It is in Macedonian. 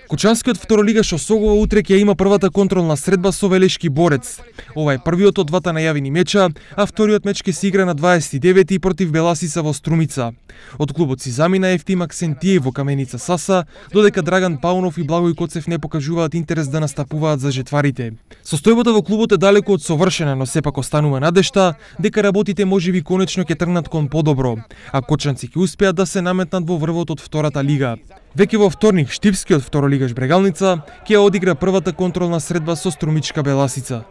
Кочанскиот второлигаш Осогова утре ќе има првата контролна средба со Велешки Борец. Ова е првиот од двата најавени меча, а вториот меч ќе се игра на 29 против Беласица во Струмица. Од клубот си замина Ефтим Аксентиев во Каменица Саса, додека Драган Паунов и Благој Коцев не покажуваат интерес да настапуваат за жетварите. Состојбата во клубот е далеку од совршена, но сепак останува надежта дека работите можеби конечно ќе тргнат кон подобро, а кочанци ќе успеат да се наметнат во врвот од втората лига. Веќе во вторник Штипскиот второлигаш Брегалница ќе одигра првата контролна средба со Струмичка Беласица.